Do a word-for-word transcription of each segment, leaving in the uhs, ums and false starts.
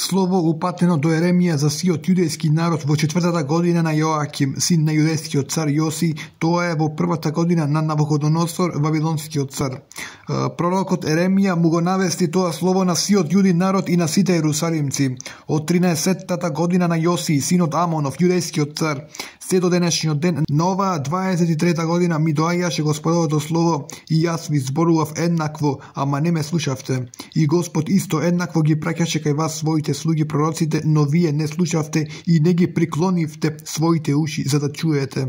Слово упатено до Еремија за сиот јудејски народ во четвртата година на Јоаким, син на јудејскиот цар Јоси, тоа е во првата година на Навуходоносор, вавилонскиот цар. Пророкот Еремија му го навести тоа слово на сиот јудин народ и на сите ерусалимци. Од тринаесеттата година на Јоси, синот Амонов, јудејскиот цар, се до денешниот ден, на оваа дваесет и трета година ми доаѓаше Господовото слово и јас ви зборував еднакво, ама не ме слушавте. И Господ исто еднакво ги праќаше кај вас своите слуги пророците, но вие не слушавте и не ги приклонивте своите уши за да чуете.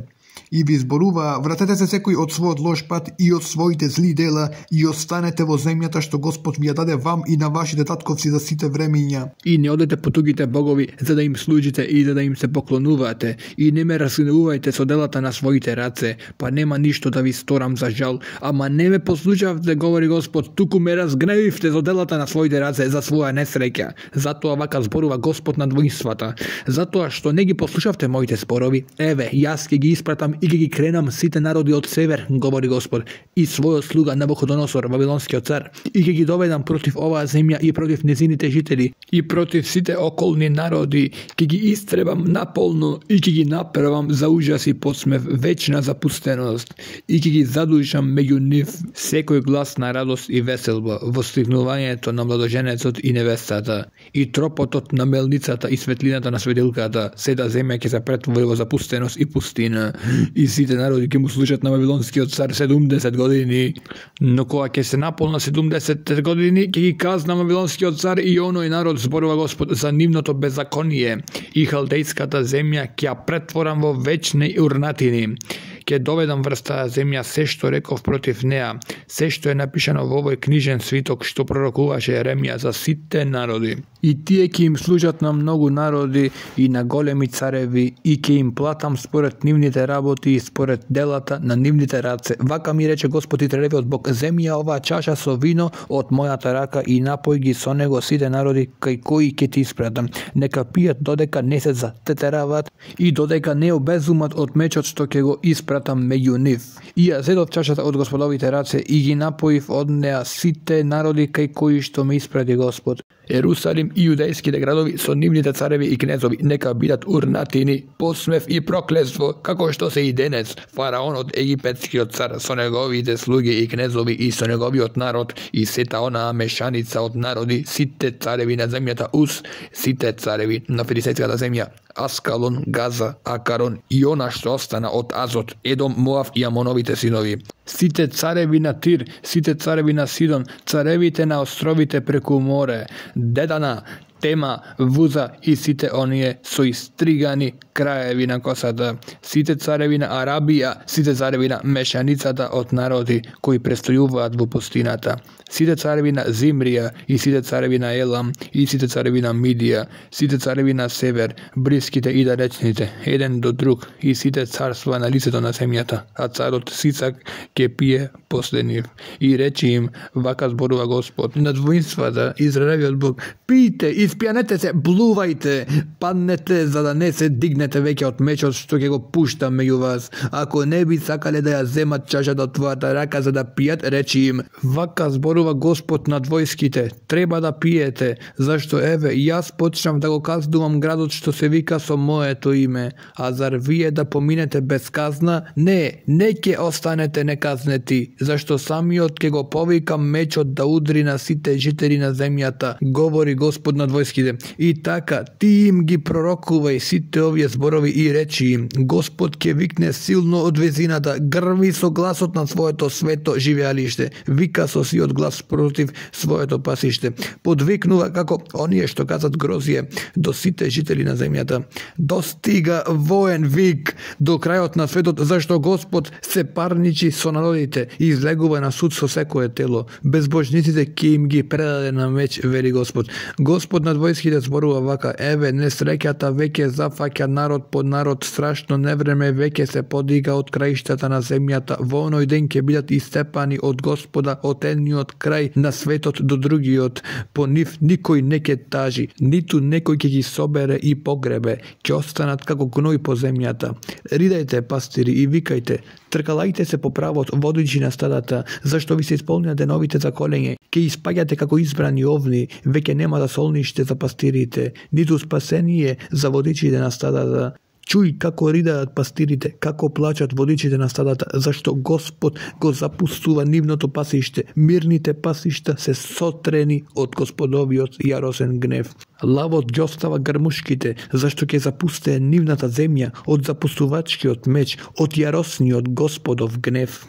И ви зборува: вратете се секој од својот лош пат и од своите зли дела и останете во земјата што Господ ви ја даде вам и на вашите татковци за сите времења. И не одете по тугите богови за да им служите и за да им се поклонувате, и не ме разгневувајте со делата на своите раце, па нема ништо да ви сторам за жал, ама не ме послушавте, говори Господ, туку ме разгневивте за делата на своите раце за своја несреќа. Затоа вака зборува Господ над воинствата, затоа што не ги послушавте моите спорови, еве, јас ќе ги испратам и ќе ги кренам сите народи од север, говори Господ, и својот слуга Навуходоносор, вавилонскиот цар, и ќе ги доведам против оваа земја и против незините жители, и против сите околни народи, ќе ги истребам наполно и ќе ги направам за ужас и подсмев, вечна запустеност, и ќе ги задушам меѓу нив секој глас на радост и веселба, востигнувањето на младоженецот и невестата, и тропотот на мелницата и светлината на светилката, сета земја ќе се претвори во запустеност и пустина. И сите народи ќе му слушат на вавилонскиот цар седумдесет години. Но кога ќе се наполна седумдесет години, ќе ги казна вавилонскиот цар и оној народ, зборува Господ, за нивното беззаконие, и халдејската земја ќе ја претворам во вечни урнатини. Ќе доведам врз таа земја се што реков против неа, се што е напишано во овој книжен свиток што пророкуваше Еремија за сите народи. И тие ќе им служат на многу народи и на големи цареви, и ќе им платам според нивните работи и според делата на нивните раце. Вака ми рече Господ Израелевиот Бог: земи ја оваа чаша со вино од мојата рака и напој ги со него сите народи кај кои ќе ти испратам. Нека пијат додека не се затетерават и додека не обезумат од мечот што ќе го испратам меѓу нив. И ја зедов чашата од Господовите раце и ги напоив од неа сите народи кај кои што ме испрати Господ. Ерусалим и јудејските градови со нивните цареви и кнезови нека бидат урнатини, посмев и проклетство, како што се и денес. Фараонот, египетскиот цар, со неговите слуги и кнезови и со неговиот народ и сета онаа мешаница од народи, сите цареви на земјата Ус, сите цареви на филистејската земја, Аскалон, Газа, Акарон и она што остана од Азот, Едом, Моав и Амоновите синови. Сите цареви на Тир, сите цареви на Сидон, царевите на островите преку море, Дедана, Тема, Вуза и сите оние со истригани краеви на косата, сите цареви на Арабија, сите цареви на мешаницата од народи кои престојуваат во пустината, сите цареви на Зимрија и сите цареви на Елам и сите цареви на Мидија, сите цареви на север, блиските и далечните, еден до друг, и сите царства на лицето на земјата, а царот Сисак ќе пие после нив. И рече им: вака зборува Господ над воинствата, Израелевиот Бог: пијте, испијанете се, блувајте, паднете за да не се дигнете веќе од мечот што ќе го пуштам меѓу вас. Ако не би сакале да ја земат чашата од твојата рака за да пијат, речи им: вака зборува Господ над војските, треба да пиете, зашто еве јас почнав да го казнувам градот што се вика со моето име, а зар вие да поминете без казна? Не, не ќе останете неказнети, зашто самиот ќе го повикам мечот да удри на сите жители на земјата, говори Господ над војските. И така, ти им ги пророкувај сите овие зборови и речи им: Господ ќе викне силно од везината, грми со гласот на своето свето живеалиште, вика со сиот глас против своето пасиште, подвикнува како оние што казат грозие до сите жители на земјата. Достига воен вик до крајот на светот, зашто Господ се парничи со народите и излегува на суд со секое тело. Безбожниците ќе им ги предаде на меч, вели Господ. Господ над војските зборува вака: еве, несреќата веќе зафаќа народ по народ, страшно невреме веќе се подига од краиштата на земјата. Во оној ден ќе бидат истепани од Господа од едниот крај на светот до другиот. По нив никој не ќе тажи, ниту некој ќе ги собере и погребе, ќе останат како гној по земјата. Ридајте, пастири, и викајте: Тркалајте се по правот, водичи на стадата, зашто ви се исполнија деновите за колење. Ке испаѓате како избрани овни, веќе нема да солниште за пастирите, ниту спасение за водичите на стадата. Чуј како ридаат пастирите, како плачат водичите на стадата, зашто Господ го запустува нивното пасиште. Мирните пасишта се сотрени од Господовиот јаросен гнев. Лавот ги остава грмушките, зашто ќе запустее нивната земја од запустувачкиот меч, од јаросниот Господов гнев.